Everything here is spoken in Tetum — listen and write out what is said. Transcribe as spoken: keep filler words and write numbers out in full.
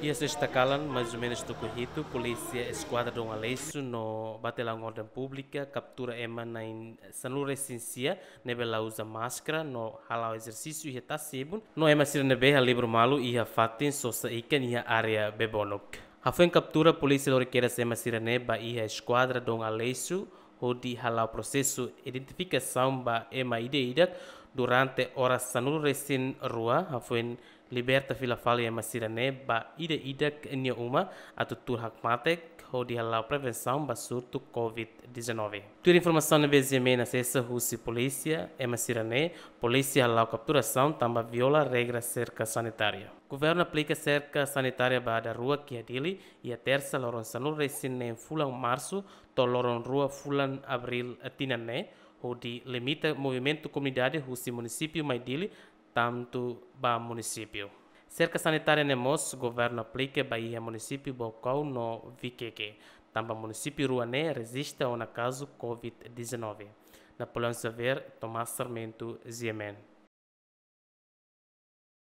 Iha sesta kalan, mais ou menus tuku hitu, polísia Eskuadra Dom Aleixo no Batallaun Orden Públika kaptura ema na'in sanulu resin sia ne'ebé la uza máskara no hala'o ezersísiu iha tasi-ibun, no ema sira ne'ebé halibur malu iha fatin sosa ikan iha área Bebonuk. Hafoin kaptura, polísia lori kedas ema sira-ne'e ba iha Eskuadra Dom Aleixo hodi hala'o prosesu identifikasaun ba ema ida-idak durante oras sanulu resin rua, hafoin liberta fila fali ema sira-ne'e ba ida-idak nia uma atu tuur hakmatek hodi hala'o prevensaun ba surtu covid dezanove. Tuir informasaun ne'ebé GMN asesa husi polísia, ema sira-ne'e, polísia hala'o kapturasaun tanba viola regra serka sanitária. Governu aplika serka sanitária ba daruak iha Dili, iha tersa loron sanulu resin neen fulan Marsu to'o loron rua fulan Abríl tinan ne'e, hodi limita movimentu komunidade husi munisípiu mai Dili, tantu ba munisípiu. Serka sanitária ne'e mós governu aplika ba iha munisípiu Baucau no Viqueque, tanba munisípiu rua ne'e rejista ona kazu covid dezanove. Napoleão Xavier, Tomás Sarmento, GMN.